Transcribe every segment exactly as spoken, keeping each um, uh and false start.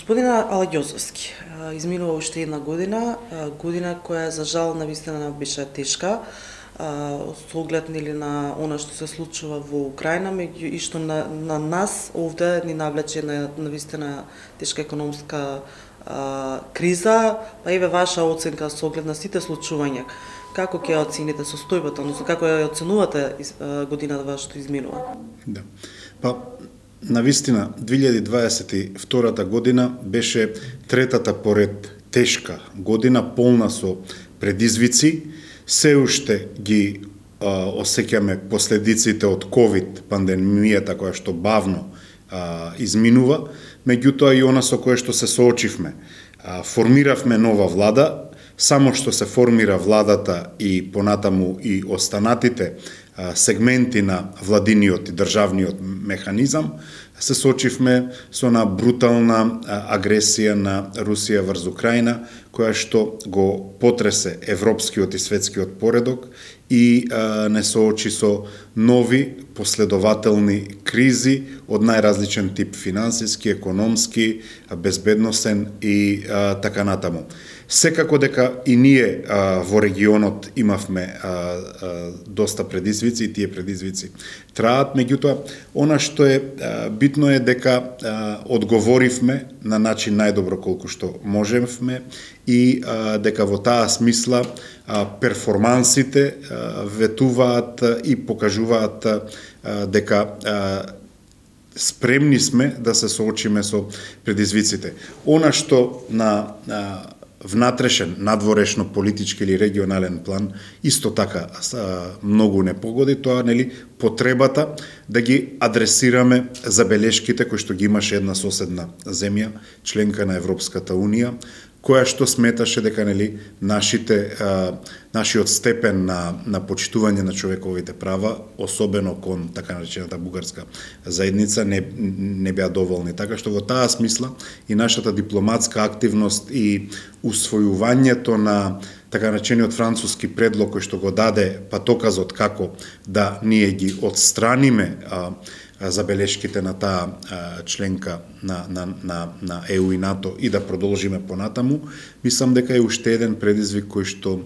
Господина Алагјозовски, изминува уште една година, година која за жал навистина беше тешка, со оглед нели на она што се случува во Украина, меѓу и што на, на нас овде ни навлече на навистина тешка економска а, криза, па еве ваша оценка со оглед на сите случувања. Како ќе оцените состојбата, односно како ја оценувате годината вашето изминува? Да. Па навистина две илјади дваесет и втората година беше третата поред тешка година, полна со предизвици. Се уште ги а, осеќаме последиците од ковид пандемијата која што бавно а, изминува, меѓутоа и она со кое што се соочивме. А, формиравме нова влада, само што се формира владата и понатаму и останатите а, сегменти на владиниот и државниот механизам, се соочивме со на брутална а, агресија на Русија врз Украина, која што го потресе европскиот и светскиот поредок и а, не соочи со нови последователни кризи од најразличен тип, финансиски, економски, безбедносен и а, така натаму. Секако дека и ние а, во регионот имавме а, а, доста предизвици и тие предизвици траат, меѓутоа она што е а, битно е дека а, одговоривме на начин најдобро колку што можевме и а, дека во таа смисла а, перформансите а, ветуваат а, и покажуваат а, дека а, спремни сме да се соочиме со предизвиците. Она што на а, внатрешен, надворешно, политички или регионален план исто така многу не погоди, тоа нели потребата да ги адресираме забелешките кои што ги имаше една соседна земја, членка на Европската Унија, која што сметаше дека нели нашите а, нашиот степен на на почитување на човековите права, особено кон така наречената бугарска заедница, не не беа доволни. Така што во таа смисла и нашата дипломатска активност и усвојувањето на така наречениот француски предлог кој што го даде патоказот како да ние ги отстраниме а, забелешките на таа членка на, на, на, на Е У и НАТО и да продолжиме понатаму, мислам дека е уште еден предизвик кој што,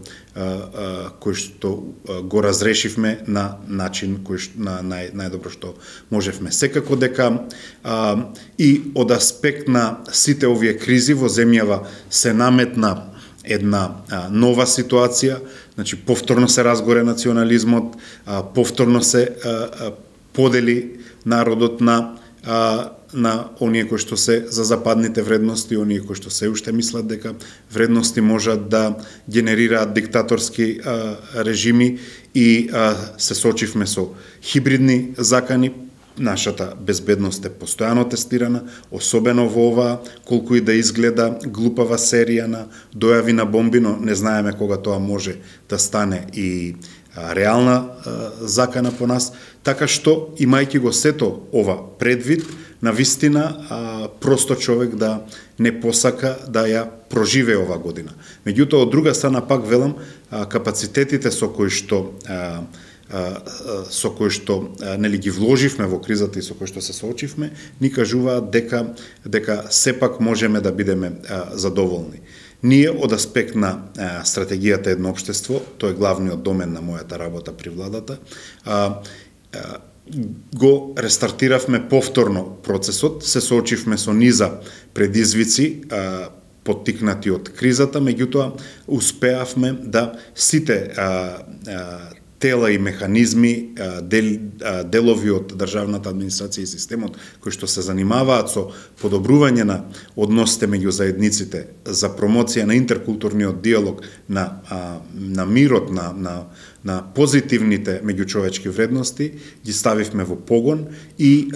кој што го разрешивме на начин кој што, на нај, најдобро што можевме. Секако дека а, и од аспект на сите овие кризи во земјава се наметна една а, нова ситуација, значи повторно се разгоре национализмот, а, повторно се а, а, подели народот на а, на оние кои што се за западните вредности, оние кои што се уште мислат дека вредности можат да генерираат диктаторски а, режими и а, се сочивме со хибридни закани. Нашата безбедност е постојано тестирана, особено во оваа, колку и да изгледа глупава серија на дојави на бомби, но не знаеме кога тоа може да стане и реална а, закана по нас, така што, имајќи го сето ова предвид, навистина а, просто човек да не посака да ја проживее ова година. Меѓутоа, од друга страна, пак велам, а, капацитетите со кои што а, со кои што нели ги вложивме во кризата и со кои што се соочивме, ни кажуваат дека дека сепак можеме да бидеме а, задоволни. Ние од аспект на а, стратегијата едно општество, тој е главниот домен на мојата работа при владата, а, а, го рестартиравме повторно процесот, се соочивме со низа предизвици, а, поттикнати од кризата, меѓутоа успеавме да сите а, а, тела и механизми, дел, делови од државната администрација и системот кои што се занимаваат со подобрување на односите меѓу заедниците, за промоција на интеркултурниот диалог, на, на мирот, на, на, на позитивните меѓучовечки вредности, ги ставивме во погон и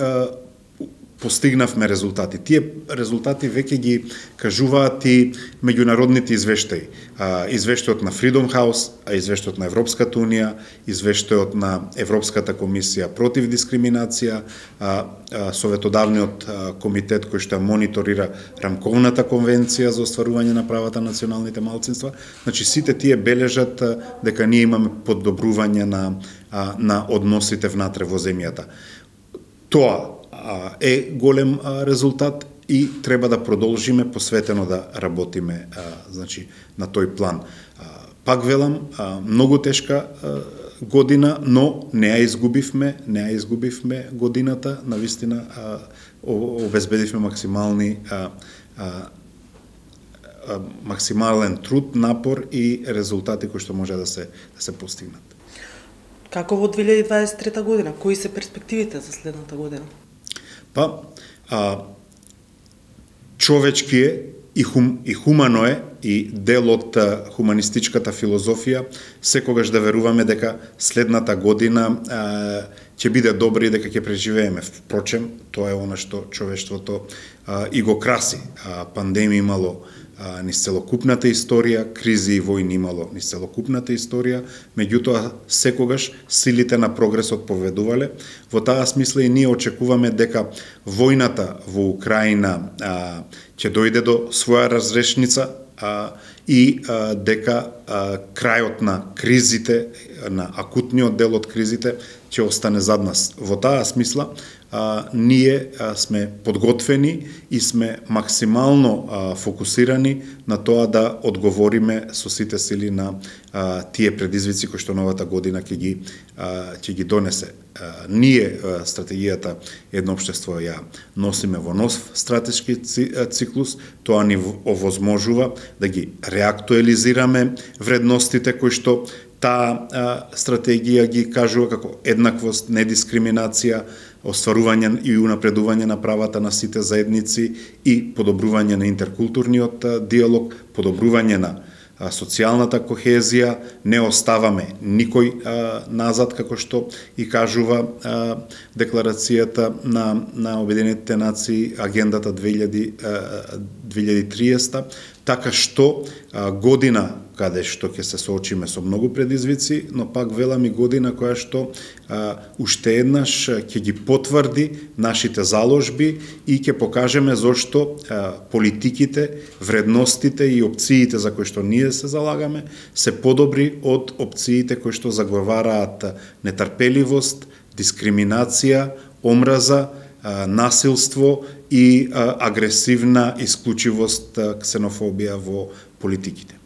постигнавме резултати. Тие резултати веќе ги кажуваат и меѓународните извештаи. Извештајот на Freedom House, извештајот на Европската Унија, извештајот на Европската комисија против дискриминација, Советодавниот комитет кој што мониторира рамковната конвенција за остварување на правата на националните малцинства. Значи сите тие бележат дека ние имаме подобрување на на односите внатре во земјата. Тоа е голем резултат и треба да продолжиме посветено да работиме а, значи на тој план. А, пак велам, а, многу тешка а, година, но не ја изгубивме, не ја изгубивме годината, навистина а, обезбедивме максимални а, а, а, максимален труд, напор и резултати кои што може да се да се постигнат. Како во две илјади дваесет и трета година? Кои се перспективите за следната година? Па, а, човечки е и, хум, и хумано е и дел од хуманистичката филозофија секогаш да веруваме дека следната година а, ќе биде добра и дека ќе преживееме. Впрочем, тоа е она што човештвото а, и го краси. А, пандемија имало а, низ целокупната историја, кризи и војни имало низ целокупната историја, меѓутоа секогаш силите на прогресот поведувале. Во таа смисла и ние очекуваме дека војната во Украина а, ќе дојде до своја разрешница а, и а, дека а, крајот на кризите, на акутниот дел од кризите, ќе остане зад нас. Во таа смисла, а, ние а, сме подготвени и сме максимално а, фокусирани на тоа да одговориме со сите сили на а, тие предизвици кои што новата година ќе ги, а, ќе ги донесе. А, ние а, стратегијата Едно општество ја носиме во нов стратешки циклус, тоа ни овозможува да ги реактуализираме вредностите кои што таа стратегија ги кажува како еднаквост, недискриминација, остварување и унапредување на правата на сите заедници и подобрување на интеркултурниот диалог, подобрување на социјалната кохезија, не оставаме никој а, назад, како што и кажува а, декларацијата на, на Обединетите нации, агендата две илјади и триесета, така што а, година каде што ќе се соочиме со многу предизвици, но пак велам и година која што а, уште еднаш ќе ги потврди нашите заложби и ќе покажеме зошто а, политиките, вредностите и опциите за кои што ние се залагаме се подобри од опциите кои што заговараат нетрпеливост, дискриминација, омраза, а, насилство и а, агресивна исклучивост, ксенофобија во политиките.